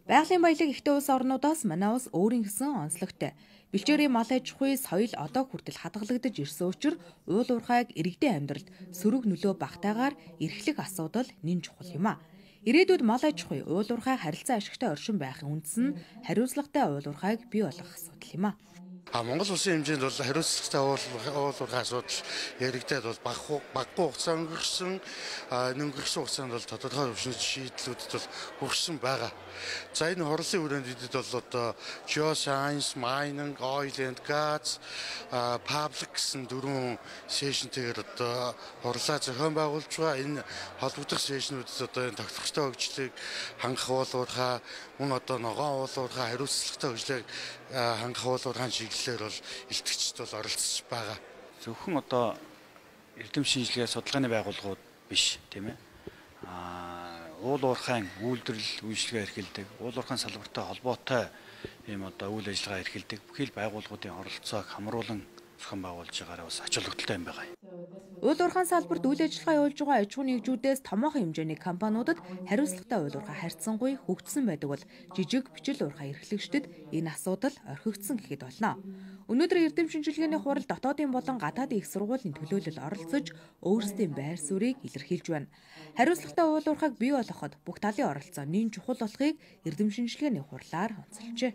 Байгалийн баялаг ихтэй улс орнуудаас манай улс өөрийн гэсэн онцлогтой. Бэлчээрийн мал аж ахуй соёл одоо хүртэл хадгалагдаж ирсэн учраас уул уурхайг иргэдийн амьдралд сөрөг нөлөө багтаагаар эрхлэх асуудал нэн чухал юм а. Ирээдүйд мал аж ахуй, уул уурхай харилцан ашигтай оршин байхын үндэс нь хариуцлагатай уул уурхайг бий болгох асуудал юм а. Монгол улсын хэмжээнд бол хариуцлагатай уул уурхай асуудал яригдаад бол баггүй хугацаа өнгөрсөн өнгөрсөн хугацаанд бол тодорхой хөвшин шийдлүүдэд бол хүрсэн байгаа. За энэ хурлын хүрээнд эдэд бол одоо geoscience, mining, oil and gas, public гэсэн дөрвөн сешнтэйгээр одоо хурлаа зохион байгуулж байгаа. Энэ холбогдох сешнүүдэд одоо энэ тогтвортой хөгжлийг хангах уул уурхай, мөн одоо ногоон уул уурхай хариуцлагатай хөгжлийг хангах уул уурхайн чиглэлээр бол илтгэгчд бол оролцож байгаа. Зөвхөн одоо эрдэм шинжилгээ судалгааны байгууллагууд биш, тийм ээ. Уул уурхайн үйлдвэрлэл үйлчилгээ эрхэлдэг, уул уурхайн салбартай холбоотой ийм одоо үйл ажиллагаа эрхэлдэг бүхэл байгууллагуудын оролцоог хамруулан зохион байгуулж байгаараа бас ач холбогдолтой юм байна. Уул уурхайн салбарт үйл ажиллагаа явуулж байгаа аж ахуй нэгжүүдээс томоохон хэмжээний компаниудад хариуцлагатай уул уурхай харьцангуй хөгжсөн байдаг бол жижиг бичил уурхай эрхлэгчдэд энэ асуудал орхигдсон гэхэд болно. Өнөөдөр эрдэм шинжилгээний хурал дотоодын болон гадаадын их сургуулийн төлөөлөл оролцож өөрсдийн байр суурийг илэрхийлж байна. Хариуцлагатай уул уурхайг бий болгоход бүх талын оролцоо нэн чухал болохыг эрдэм шинжилгээний хурлаар онцолжээ.